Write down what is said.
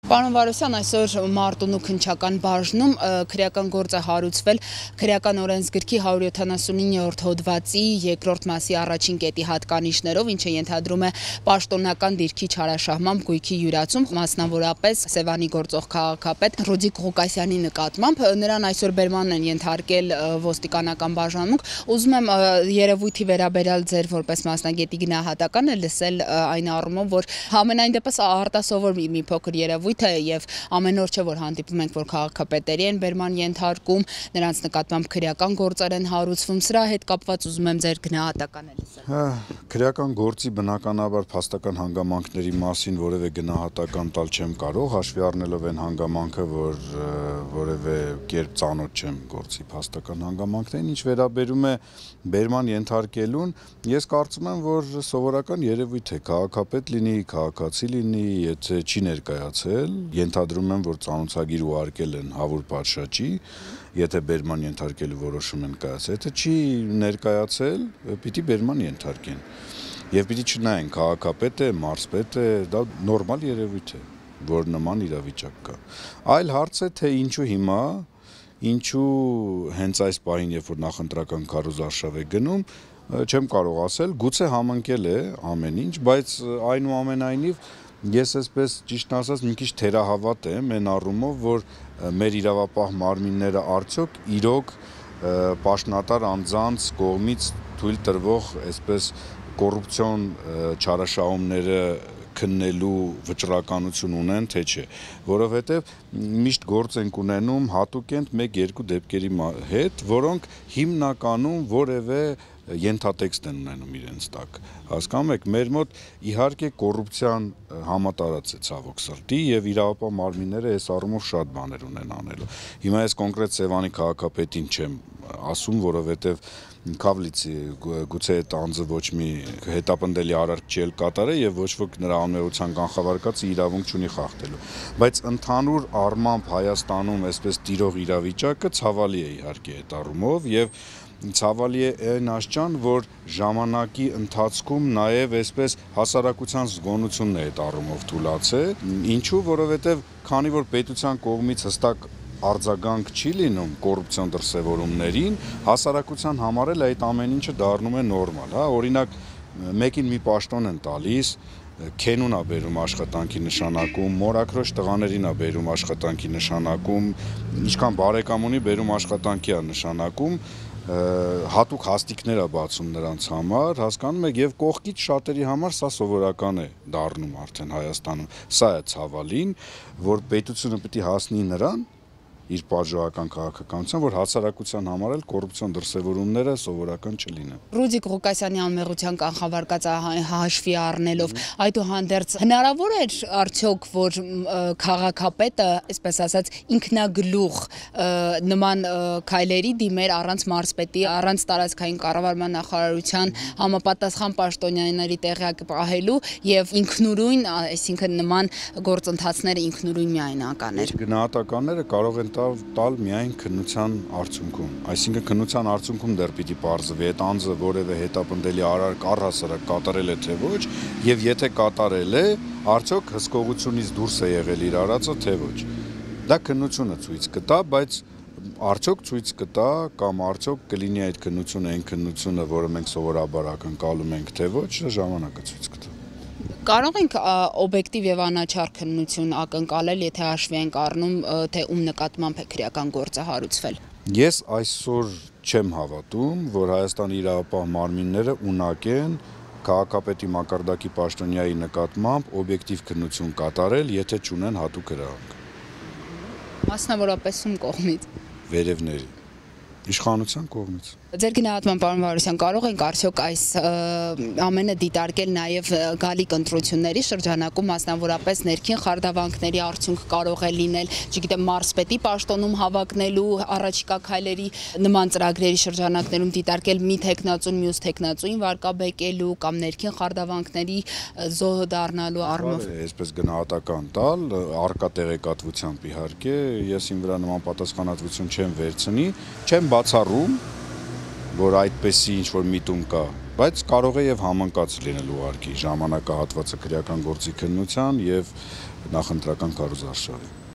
Պարոն Վարոսյան, այսօր Մարտունու քննչական բաժնում քրեական գործ է հարուցվել քրեական օրենսգրքի 179-րդ հոդվածի երկրորդ մասի առաջին կետի հատկանիշներով, ինչը ենթադրում է պաշտոնական դիրքի չարաշահմամբ գույքի յուրացում, մասնավորապես Սևանի գործող քաղաքապետ Ռոդիկ Ղուկասյանի նկատմամբ, նրան այսօր բերման են ենթարկել ոստիկանական բաժանմունք։ Ուզում եմ երևույթի վերաբերյալ ձեր որպես մասնագետի գնահատականը լսել այն առումով, որ համենայն դեպս արտասովոր մի փոքր երևույթ եւ ամեն օր չէ որ հանդիպում ենք որ քաղաքապետերի են բերման ենթարկում, նրանց նկատմամբ քրեական գործեր են հարուցվում, սրա հետ կապված ուզում եմ ձեր գնահատականը լսել։ Քրեական գործի բնականաբար փաստական հանգամանքների մասին որևէ գնահատական տալ չեմ կարող, հաշվի առնելով այն հանգամանքը, որ որևէ կերպ ծանոթ չեմ գործի փաստական հանգամանքներին, ինչ վերաբերում է բերման ենթարկելուն, ես կարծում եմ, որ սովորական երևույթ է, քաղաքապետ լինի, քաղաքացի լինի, եթե չի ներկայացել, ենթադրում եմ, որ ծանոթագիր ուղարկել են Հավուր պատշաճի, եթե բերման ենթարկելու որոշում են կայացել, եթե չի ներկայացել, պիտի բերման ենթարկեն։ Եվ պիտի չնայեն քաղաքապետ է, մարզպետ է, դա նորմալ երևույթ է, որ նման իրավիճակ կա։ Այլ հարց է, թե ինչու հիմա, ինչու հենց այս պահին, երբ որ նախընտրական քարոզարշավ է գնում, չեմ կարող ասել, գուցե համընկել է ամեն ինչ, բայց այնուամենայնիվ ես այսպես ճիշտ ասած մի քիչ թերահավատ եմ այն առումով, որ մեր իրավապահ մարմինները արդյոք իրոք պաշտոնատար անձանց կողմից թույլ տրվող այսպես կոռուպցիոն չարաշահումները քննելու վճռականություն ունեն, թե չէ, որովհետև միշտ գործ ենք ունենում հատուկենտ 1-2 դեպքերի հետ, որոնք հիմնականում որևէ ենթատեքստ են ունենում իրենց տակ, հասկանում եք, մեր մոտ իհարկե կոռուպցիան համատարած է ցավոք սրտի եւ իրավապահ մարմինները այս առումով շատ բաներ ունեն անելու։ Հիմա ես կոնկրետ Սևանի քաղաքապետին չեմ ասում, որովհետեւ Քավլիցի գուցե այդ անձը ոչ մի հետապնդելի արարք չի կատարել եւ ոչ ոք նրա անմեղության կանխավարկածը իրավունք չունի խախտելու, բայց ընդհանուր առմամբ Հայաստանում այսպես տիրող իրավիճակը ցավալի է իհարկե այդ առումով եւ ցավալի է այն աշճան, որ ժամանակի ընթացքում նաև այսպես հասարակության զգոնությունն է այդ առումով թուլացել, ինչու, որովհետև քանի որ պետության կողմից հստակ արձագանք չի լինում կոռուպցիոն դրսևորումներին, հասարակության համար էլ այդ ամեն ինչը դառնում է նորմալ, հա, օրինակ մեկին մի պաշտոն են տալիս, քենուն է բերում աշխատանքի նշանակում, մորաքրոջ տղաներին է բերում աշխատանքի նշանակում, ինչքան բարեկամ ունի բերում աշխատանքի է նշանակում, հատուկ հաստիկներ է բացում նրանց համար, հասկանում եք, եւ կողքից շատերի համար սա սովորական է դառնում արդեն Հայաստանում, սա է ցավալին, որ պետությունը պետք է հասնի նրան իր պատժողական քաղաքականության, որ հասարակության համար էլ կոռուպցիոն դրսևորումները սովորական չլինեն։ Ռոդիկ Ղուկասյանի անմեղության կանխավարկած հաշվի առնելով, այդուհանդերձ հնարավոր է արդյոք, որ քաղաքապետը, այսպես ասած, ինքնագլուխ նման քայլերի դիմեր առանց մարզպետի, առանց տարածքային կառավարման նախարարության համապատասխան պաշտոնյաների տեղյակ պահելու եւ ինքնուրույն, այսինքն նման գործընթացները ինքնուրույն միայնականներ։ Գնահատականները կարող են տալ միայն քննության արդյունքում, այսինքն քննության արդյունքում դեռ պիտի պարզվի այդ անձը որևէ հետապնդելի արարք առհասարակ կատարել է թե ոչ, եւ եթե կատարել է, արդյոք հսկողությունից դուրս է եղել իր արածը թե ոչ։ Դա քննությունը ցույց կտա, բայց արդյոք ցույց կտա կամ արդյոք կլինի այդ քննությունը այն քննությունը, որը մենք սովորաբար ակնկալում ենք թե ոչ, ժամանակը ցույց կտա։ Կարող ենք օբյեկտիվ եւ անաչառ քննություն ակնկալել, եթե հաշվի ենք առնում, թե ում նկատմամբ է քրեական գործը հարուցվել։ Ես այսօր չեմ հավատում, որ Հայաստանի իրավապահ մարմինները ունակ են քաղաքապետի մակարդակի պաշտոնյայի նկատմամբ օբյեկտիվ քննություն կատարել, եթե չունեն հատուկ հրահանգ։ Մասնավորապես ում կողմից։ Վերևների իշխանության կողմից։ Ձեր գնահատման պարոն Վարոսյան, կարող ենք արդյոք այս ամենը դիտարկել նաև գալիք ընտրությունների շրջանակում, մասնավորապես ներքին խարդավանքների արդյունք կարող է լինել, չգիտեմ, մարզպետի պաշտոնում հավակնելու առաջիկա քայլերի նման ծրագրերի շրջանակներում դիտարկել մի թեկնածուն մյուս թեկնածուին վարկաբեկելու կամ ներքին խարդավանքների զոհ դառնալու առումով։ Այսպես գնահատական տալ, առկա տեղեկատվությամբ իհարկե, ես իմ վրա նման պատասխանատվություն չեմ վերցնի, չեմ բացառում, որ այդպեսի ինչ-որ միտում կա, բայց կարող է եւ համընկած լինել ուղարկի ժամանակահատվածը քրեական գործի քննության եւ նախընտրական քարոզարշավի։